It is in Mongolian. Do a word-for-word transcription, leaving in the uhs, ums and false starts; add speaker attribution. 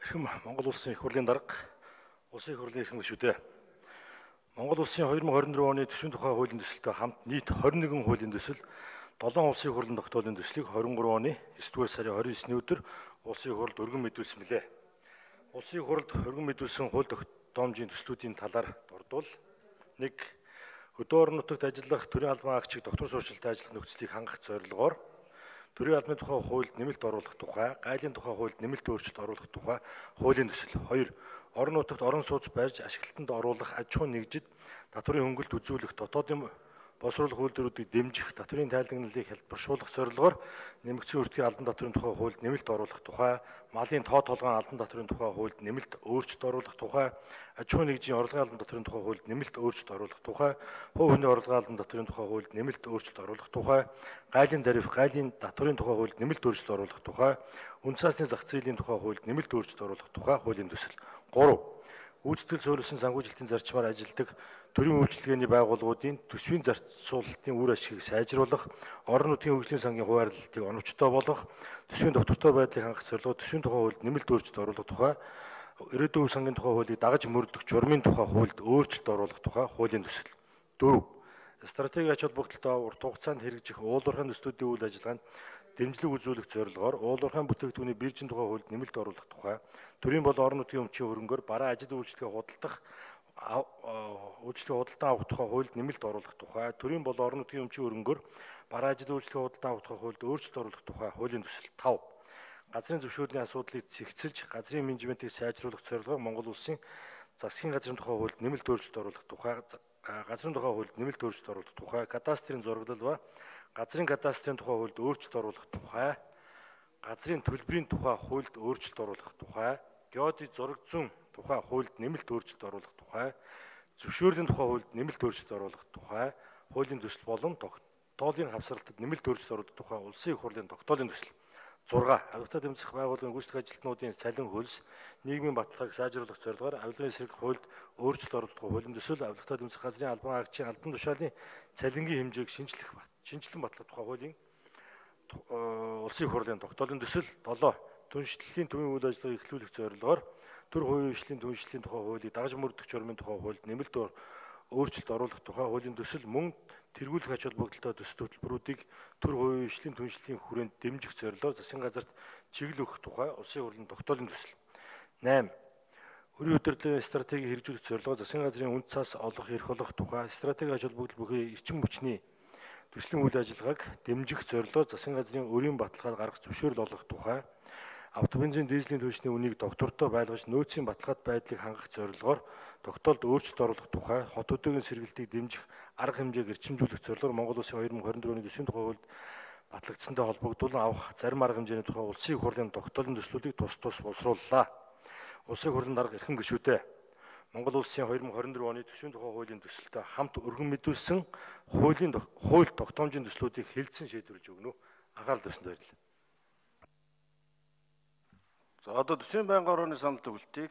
Speaker 1: Эрхэм Монгол улсын их хурлын дарга, улсын их хурлын эрхэм гишүүдээ. Монгол улсын хоёр мың хорин дөрөв оны төсвийн тухай хуулийн төсөлтэй хамт нийт хорин нэгэн хуулийн төсөл, долоон улсын их хурлын тогтоолын төслийг хорин гурав оны есдүгээр сарын хорин есний өдөр улсын их хурлд өргөн мэдүүлсэн билээ. Улсын их хурлд өргөн мэдүүлсэн хууль тогтоомжийн төслүүдийн талаар дурдвал нэг Хөдөө орон нутагт ажиллах төрийн албан агчид доктор суурьшилтай ажиллах нөхцөлийг хангах зорилгоор төрийн албаны тухай хуульд нэмэлт оруулах тухай, гайлын тухай хуульд нэмэлт өөрчлөлт оруулах тухай хуулийн төсөл. Хоёр Орон нутагт орон сууц барьж ашиглалтанд оруулах аж ахуйн нэгжид татврын хөнгөлт үзүүлэх дотоодын боловсруулах үйлдвэрүүдийг дэмжих, татврын тайлагналыг хэлбэршүүлэх зорилгоор нэмэгдсэн өртгийн албан татврын тухай хуульд нэмэлт оруулах тухай, малын тоо толгойн албан татврын тухай хуульд нэмэлт өөрчлөлт оруулах тухай, аж ахуйн нэгжийн орлогын албан татврын тухай хуульд нэмэлт өөрчлөлт оруулах тухай, хувь хүний орлогын албан татврын тухай хуульд нэмэлт өөрчлөлт оруулах тухай, гайлын тариф, гайлын татврын тухай хуульд нэмэлт өөрчлөлт оруулах тухай, үн цасны зах зээлийн тухай хуульд нэмэлт өөрчлөлт оруулах тухай хуулийн төсөл. Гурав Гүйцэтгэл суурилсан санхүүжилтийн зарчмаар ажилладаг төрийн үйлчилгээний байгууллагуудын төсвийн зарцуулалтын үр ашгийг сайжруулах, орон нутгийн хөгжлийн сангийн хуваарлалтыг оновчтой болгох, төсвийн доктортой байдлыг хангах зорилгоор төсвийн тухай хуульд нэмэлт өөрчлөлт оруулах тухай, ирээдүйн сангийн тухай хуулийг дагаж мөрдөх журмын тухай хуульд өөрчлөлт оруулах тухай хуулийн төсөл. Дөрөв Стратегийн ач холбогдолтой урт хугацаанд хэрэгжих уулуурхайн төслүүдийн үйл ажиллагаанд дэмжлэг үзүүлэх зорилгоор уулуурхайн бүтээгдэхүүний биржийн тухай хуульд нэмэлт оруулах тухай, төрийн бол орон нутгийн өмчийн хөрөнгөөр бараа ажил үйлчлэгээ худалдах үйлчлэгээ худалдан авах тухай хуульд нэмэлт оруулах тухай, төрийн бол орон нутгийн өмчийн хөрөнгөөр бараа ажил үйлчлэгээ худалдан авах тухай хуульд өөрчлөлт оруулах тухай хуулийн төсөл. Тав Газрын зөвшөөрлийн асуудлыг зэгцэлж, газрын менежментийг сайжруулах зорилгоор Монгол улсын засгийн газрын тухай хуульд нэмэлт өөрчлөлт оруулах тухай, газрын тухай хуульд нэмэлт өөрчлөлт оруулах тухай, кадастрын зураглал ба газрын кадастрын тухай хуульд өөрчлөлт оруулах тухай, газрын төлбөрийн тухай хуульд өөрчлөлт оруулах тухай, геодын зураг зүүн тухай хуульд нэмэлт өөрчлөлт оруулах тухай, зөвшөөрлийн тухай хуульд нэмэлт өөрчлөлт оруулах тухай хуулийн төсөл болон тогтоолын хавсралтад нэмэлт өөрчлөлт оруулах тухай улсын их хурлын тогтоолын төсөл. зурга Авилгын тэмцэх байгууллагын гүйцэтгэх ажилтнуудын цалин хөлс, нийгмийн баталгааг сайжруулах зорилгоор авилгын эсрэг хуульд өөрчлөлт оруулах хуулийн төсөл, авилгын тэмцэх газрын албан агчийн албан тушаалын цалингийн хэмжээг шинжлэх шинжилэн батлах тухай хуулийн улсын их хурлын тогтоолын төсөл. Долоо Түншлэлийн төвийн үйл ажиллагааг эхлүүлэх зорилгоор төр хувийн хвшлийн түншлэлийн тухай хуулийг дагаж мөрдөх журмын тухай хуульд нэмэлт өөрчлөлт оруулах тухай хуулийн төсөл, мөн тэргүүлэх ач холбогдолтой төсөл хөтөлбөрүүдийг төр хувийн хвшлийн түншлэлийн хүрээнд дэмжих зорилгоор засгийн газарт чиглэл өгөх тухай улсын их хурлын тогтоолын төсөл. Найм Өрийн удирдлагын стратегийг хэрэгжүүлэх зорилгоор засгийн газрын үнд цас олох, эрх олох тухай, стратегийн ач холбогдол бүхий эрчим хүчний төслийн үйл ажиллагааг дэмжих зорилгоор засгийн газрын өрийн баталгаад гаргах зөвшөөрөл олгох тухай, автобензин дизелийн түншний үнийг доктортой байлгаж нөөцийн баталгаад байдлыг хангах зорилгоор тогтоолд өөрчлөлт оруулах тухай, хот хөдөөгийн сэргэлтийг дэмжих арга хэмжээг эрчимжүүлэх зорилгоор Монгол улсын хоёр мың хорин дөрөв оны төсвийн тухай хуульд батлагдсантай холбогдуулан авах зарим арга хэмжээний тухай улсын их хурлын тогтоолын төслүүдийг тус тус боловсрууллаа. Улсын их хурлын дарга эрхэм гишүүдээ. Монгол улсын хоёр мың хорин дөрөв оны төсвийн тухай хуулийн төсөлтэй хамт өргөн мэдүүлсэн хуулийн хууль тогтоомжийн төслүүдийг хэлэлцэн шийдвэрлэж өгнө. Анхаарал тавьсанд баярлалаа.
Speaker 2: За одоо төсвийн байнгын орооны санал төгөлтийг